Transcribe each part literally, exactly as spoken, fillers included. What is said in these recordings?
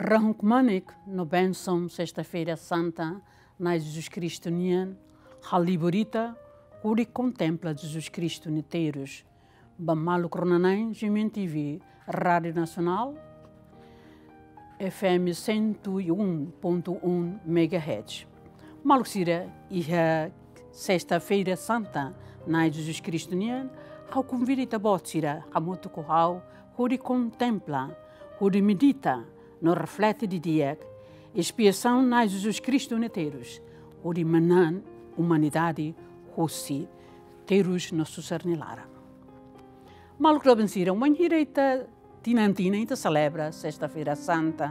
Rahun kmanek no bensaun Sesta-feira Santa Na'i Jesus Kristu nian, halibur ita hodi kontempla Jesus Kristu nia terus. Ba maluk rona-na'in, G M N T V, Rádio Nasionál, F M cento e um ponto um megahertz. Maluk sira, iha Sesta-feira Santa Na'i Jesus Kristu nian, ha'u konvida ita-boot sira hamutuk ho ha'u hodi kontempla, hodi medita no reflete didi'ak espiasaun Na'i Jesus Kristu nia terus, hodi manán umanidade hosi terus no susar nia laran. Maluk doben sira, wainhira ita tinan-tinan ita selebra Sesta-feira Santa,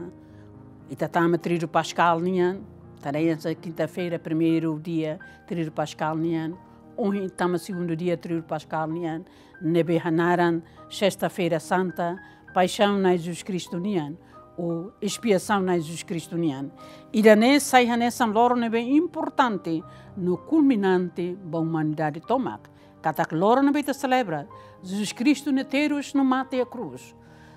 ita tama Tríduo Paskál nian, ita hanesan kinta-feira, primeiru dia Tríduo Paskál nian, ohin tama segundu dia Tríduo Paskál nian, ne'ebé hanaran Sesta-feira Santa, Paixaun Na'i Jesus Kristu nian, ou Espiasaun Na'i Jesus Kristu nian. Ida-ne'e sai hanesan loron ne'ebé importante no kulminante ba umanidade tomak. Katak loron ne'ebé ita selebra Jesus Kristu nia terus no mate iha krús,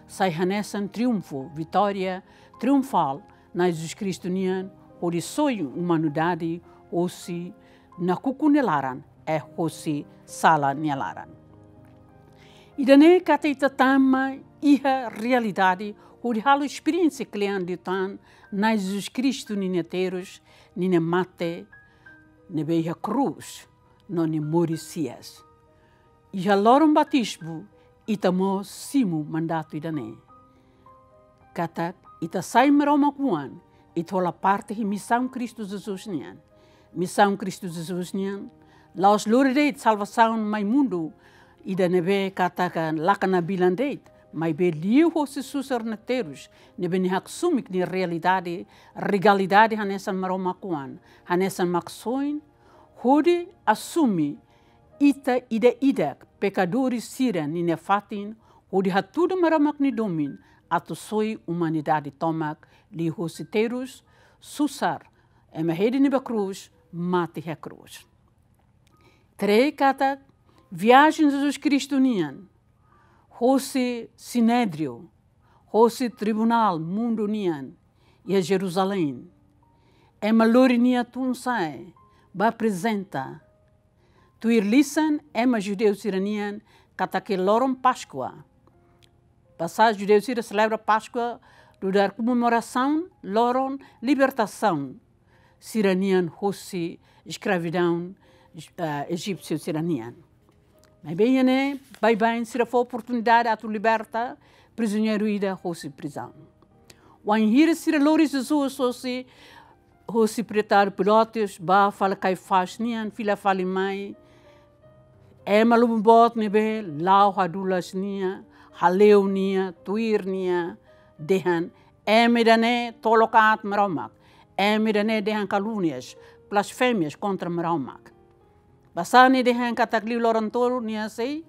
sai hanesan triunfu, vitória triunfál Na'i Jesus Kristu nian, hodi soi umanidade hosi nakukun nia laran, eh, hosi sala nia laran. Ida-ne'e katak ita tama iha realidade hodi halo esperiénsia kle'an liután Na'i Jesus Kristu ninia terus, ninia mate ne'ebé iha krús, no nia moris-hi'as. Iha loron batizmu, ita mós simu mandatu ida-ne'e. Katak ita sai Maromak oan, ita hola parte iha misaun Kristu Jesus nian. Misaun Kristu Jesus nian la'ós lori de'it salvasaun mai mundu ida ne'ebé katak laka nabilan de'it, maibé liuhosi susar nia terus, ne'ebé nia haksoin nia realidade, realidade hanesan Maromak oan, hanesan Maksoin, hodi asume ita ida-idak pekadores sira ninia fatin, hodi hatudu Maromak nia domin atu soi umanidade tomak liuhosi terus, susar, ema hedi nia ba krús, mate iha krús. Três katak viajen Jesus Kristu nian, hosi Sinédrio, hosi tribunál mundu nian, iha Jerusalém. Ema lori nia tun-sa'e, ba aprezenta. Tuir lisan ema judeu sira-nian katak loron Páskua. Basá judeu sira selebra Páskua nu'udar komemorasaun loron libertasaun sira-nian hosi eskravidaun, eh, ejípsiu sira-nian. Maibé iha ne'e, baibain sira fó oportunidade atu liberta prizioneiru ida hosi prizaun. Wainhira sira lori Jesus hosi, hosi Pretadu Pilatus, ba fali Kaifás nian, fila fali mai. Ema lubun boot ne'ebé la'o hadulas nia, hale'u nia, tuir nia, dehan: Ema ida-ne'e tolok aat Maromak. Ema ida-ne'e dehan kalúnias, blasfémias kontra Maromak. Basá nia dehan katak liu loron tolu nia sei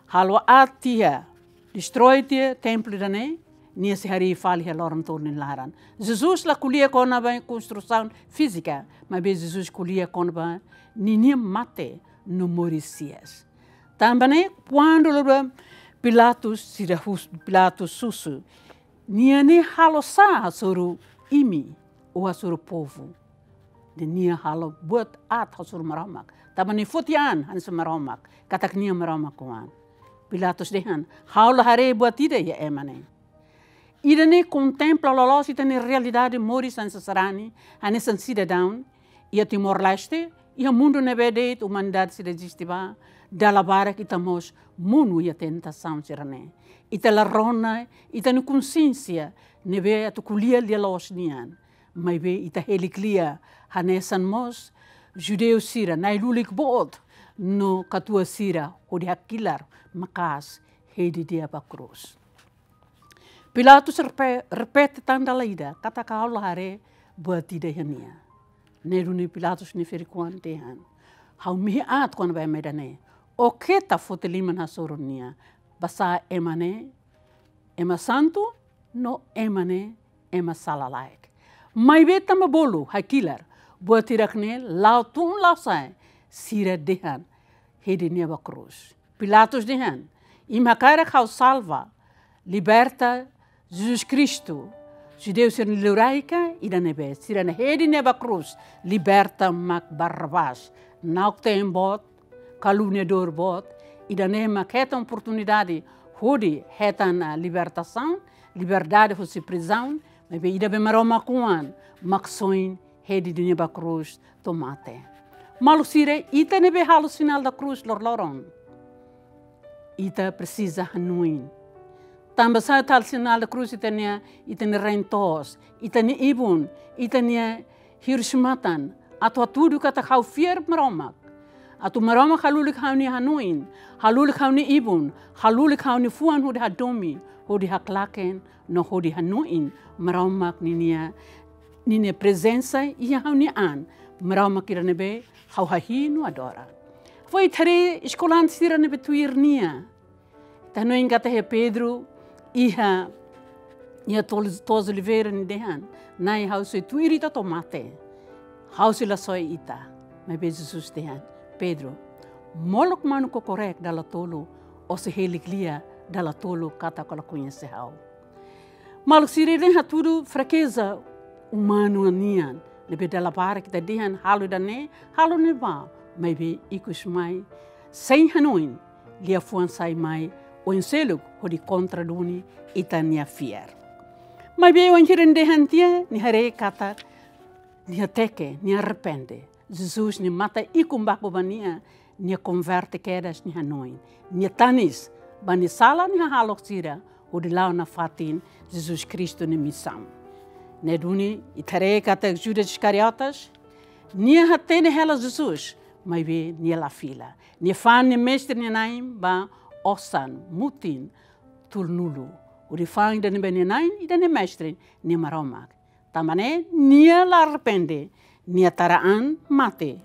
halo aat tiha, destrói tiha templu ida-ne'e, nia sei harii fali iha loron tolu nia laran. Jesus la ko'alia kona-ba konstrusaun fízika, maibé Jesus ko'alia kona-ba ninia mate no moris-hi'as. Tanba ne'e, kuandu lori ba Pilatus, sira hus-, Pilatus husu: Nia ne'e halo sá hasoru imi, ou hasoru povu? Dehan nia halo buat aat hasoru Maromak. Tanba nia foti an hanesan Maromak, katak nia Maromak oan. Pilatus dehan: Ha'u la haree buat ida iha ema ne'e. Ida-ne'e kontempla loloos ita-nia realidade moris hanesan sarani, hanesan sidadaun, iha Timor-Leste, iha mundu ne'ebé de'it umanidade sira eziste ba, dala barak ita mós monu iha tentasaun sira-ne'e. Ita la rona ita-nia konsiénsia ne'ebé atu ko'alia lia-loos nian. Maibé ita heli klia hanesan mós judeu sira, na'i-lulik boot no katuas sira hodi hakilar maka'as hedi nia ba krús. Pilatus repe-, repete tan dala ida katak ha'u la haree buat ida iha nia. Ne'e duni Pilatus nia ferik-oan dehan: Ha'u mehi aat kona-ba ema ida-ne'e. Ó keta foti liman hasoru nia. Basá ema ne'e ema santu, no ema ne'e ema sala-laek. Maibé tanba bolu hakilar buat hirak-ne'e, la'o tun la'o sa'e, sira dehan hedi nia ba krús. Pilatus dehan: Imi hakarak ha'u salva, liberta Jesus Kristu, Judeu sira-nia liurai ka ida ne'ebé, sira-nia hedi ne'e ba krús, liberta mak Barrabás. Na'ok-teen boot, kaluniadór boot, ida-ne'e mak hetan oportunidade hodi hetan, ah, libertasaun, liberdade husi prizaun, maibé ida be Maromak oan, Maksoin hedi nia ba krús to'o mate. Maluk sira, ita ne'ebé halo sinál da krús loroloron, ita presiza hanoin. Tanba sá ita halo sinál da krús? Ita-nia, ita-nia rain-toos, ita-nia ibun, ita-nia hirus-matan, atu hatudu katak ha'u fiar Maromak. Atu Maromak halulik ha'u-nia hanoin, halulik ha'u-nia ibun, halulik ha'u-nia fuan hodi hadomi, hodi haklaken, no hodi hanoin Maromak ninia, ninia prezensa iha ha'u-nia an, Maromak ida ne'ebé ha'u hahi'i no adora. Foin ita haree eskolante sira ne'ebé tuir nia. Ita hanoin katak iha Pedro, iha, iha tolu, tolu Oliveira nia dehan: Na'i, ha'u sei tuir Ita to'o mate, ha'u sei la soe Ita. Maibé Jesus dehan: Pedro, molok manu kokorek dala tolu, ó sei hili lia dala tolu katak ó la koñese ha'u. Maluk sira, ida-ne'e hatudu frakeza umanu nian, ne'ebé dala barak ita dehan halo ida-ne'e, halo ne'ebá, maibé ikus mai, sein hanoin, liafuan sai mai oin seluk hodi kontra duni ita-nia fiar. Maibé oin sira-nia dehan tiha, nia haree katak nia hateke, nia arrepende. Jesus nia matan ikun baku ba nia, nia konverte kedas nia hanoin, nia tanis ba nia sala nia hahalok sira, hodi la'o nafatin Jesus Kristu nia misaun. Ne'e duni ita haree katak Judas Iskariotes, nia hatene hela Jesus, maibé nia la fila. Nia fa'an nia Mestre nia Nain ba osan, mutin, tulunulu. Hodi fa'an ida-ne'ebé nia Nain, ida-ne'e Mestre, nia Maromak. Tanba ne'e nia la arrepende, nia tara an mate.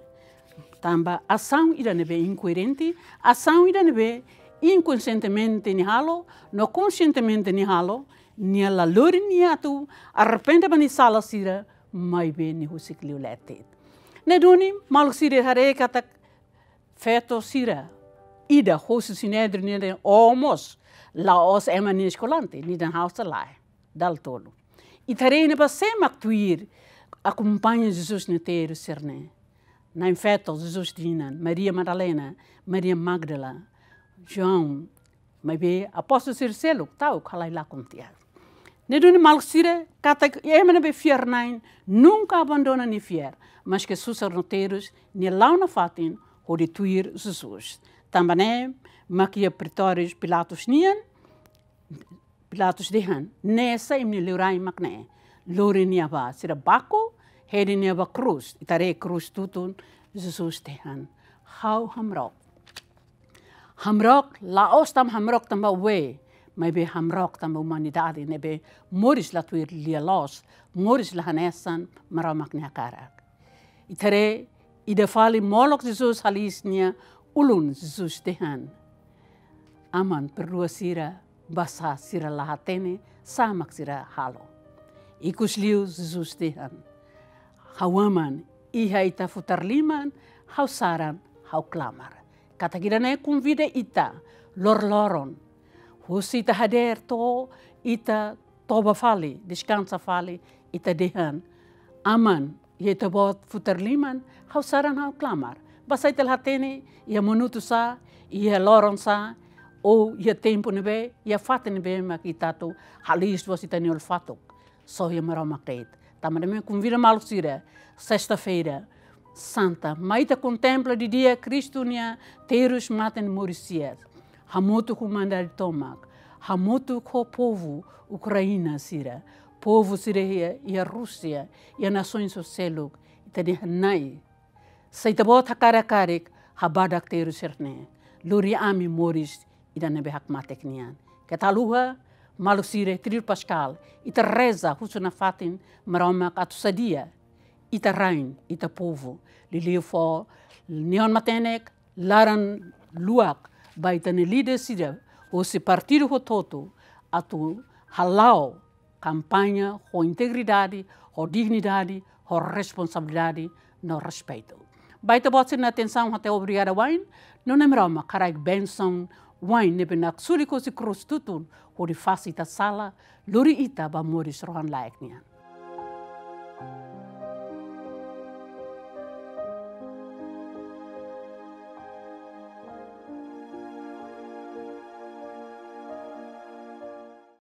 Tanba asaun ida ne'ebé inkoerente, asaun ida ne'ebé inkonsientemente nia halo, no konsientemente nia halo, nia la lori nia atu arrepende ba nia sala sira, maibé nia husik liu leten. Ne'e duni, maluk sira, haree katak feto sira ida hosi Sinédrion nia dehan: Ó mós la'ós ema nia eskolante, nia dehan: Ha'u sei lae. Dala tolu. Ita haree ne'ebá sé mak tuir, akompaña Jesus nia terus sira-ne'e. Na'in-feto Jesus nia inan, Maria Madalena, Maria Magdala, João, maibé apóstolu sira seluk ta'uk halai lakon tiha. Ne'e duni, maluk sira, katak ema ne'ebé fiar-na'in nunka abandona nia fiar, maske susar no terus nia la'o nafatin hodi tuir Jesus. Tanba ne'e mak iha pretóriu Pilatus nian, Pilatus dehan: Ne'e sá, imi-nia liurai mak ne'e. Lori nia bá. Sira baku, hedi nia ba krús. Ita haree krús tutun, Jesus dehan: Ha'u hamrook. Hamrook, la'ós tanba hamrook tanba oin, maibé hamrook tanba umanidade ne'ebé moris la tuir lia-loos, moris la hanesan Maromak nia hakarak. Ita haree, ida fali molok Jesus haliis nia ulun, Jesus dehan: Aman, perdua sira, basá sira la hatene sá mak sira halo. Ikusliu Jesus dehan: Ha'u Aman, iha Ita futar liman, ha'u saran, ha'u klamar. Katak ida-ne'e konvida ita loroloron. Husi ita hadeer to'o ita toba fali, deskansa fali, ita dehan: Aman, iha Ita-Boot futar liman, ha'u saran, ha'u klamar. Basá ita la hatene iha minutu sá, iha loron sá, ou iha tempu ne'ebé, iha fatin ne'ebé mak ita atu haliis loos ita-nia olfatuk. Só iha Maromak de'it. Tanba ne'e mak konvida maluk sira, Sesta-feira Santa, mai ita kontempla didi'ak Kristu nia terus, mate no moris hi'as. Hamutuk ho umanidade tomak, hamutuk ho povu Ukraina sira, povu sira iha, iha Rúsia, iha nasoens seluk, ita dehan: Na'i, se Ita-Boot hakarak karik, habadak terus sira-ne'e. Lori ami moris ida ne'ebé hakmatek nian. Keta haluha, maluk sira, Tríduo Paskál, ita reza husu nafatin Maromak atu sadia ita-rain, ita povu. Liuliu fó neon matenek, laran luak ba ita-nia líder sira hosi partidu hotu-hotu atu hala'o kampaña ho integridade, ho dignidade, ho responsabilidade no respeitu. Ba ita-boot sira-nia atensaun até obrigada wa'in, no Na'i Maromak haraik bensaun wain ne'ebé naksulik hosi krús tutun hodi fase ita sala, lori ita ba moris rohan-laek nian.